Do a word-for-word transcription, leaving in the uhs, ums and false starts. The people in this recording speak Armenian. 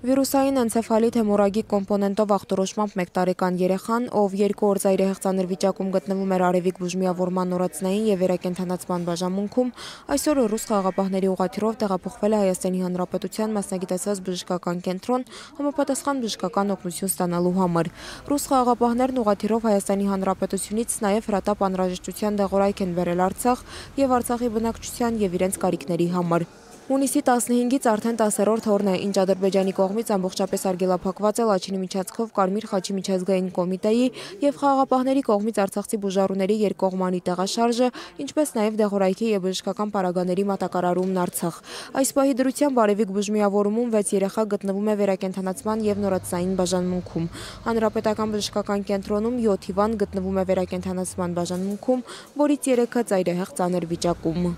Վիրուսային էնցեֆալիտ հեմորագիկ կոմպոնենտով ախտորոշմամբ մեկ տարեկան երեխան, ով երկու օր ծայրահեղ ծանր վիճակում գտնվում էր արևիկ բուժմիավորման նորածնային և վերակենդանացման բաժանմունքում, այսօր ռուս խաղաղապահների ուղղաթիռով տեղափոխվել է Հայաստանի Հանրապետության մասնագիտացված բժշկական կենտրոն համապատասխան բժշկական օգնություն ստանալու համար։ Ռուս խաղաղապահներն ուղղաթիռով Հայաստանի Հանրապետությունից նաև հրատապ անհրաժեշտության դեղորայք են բերել Արցախ և Արցախի բնակչության և իրենց կարիքների համար։ Հունիսի տասնհինգից արդեն տասերորդ օրն է, ինչ Ադրբեջանի կողմից ամբողջապես արգելափակված է Լաչինի միջանցքով Կարմիր խաչի միջազգային կոմիտեի և խաղաղապահների կողմից արցախցի բուժառուների երկկողմանի տեղաշարժը, ինչպես նաև դեղորայքի և բժշկական պարագաների մատակարարումն Արցախ։ Այս պահի դրությամբ արևիկ բուժմիավորումում վեց երեխա գտնվում է վերակենդանացման և նորածնային բաժանմունքում։ Հանրապետական բժշկական կենտրոնում յոթ հիվանդ գտնվում է վերակենդանացման բաժանմունքում, որից երեքը ծայրահեղ ծանր վիճակում։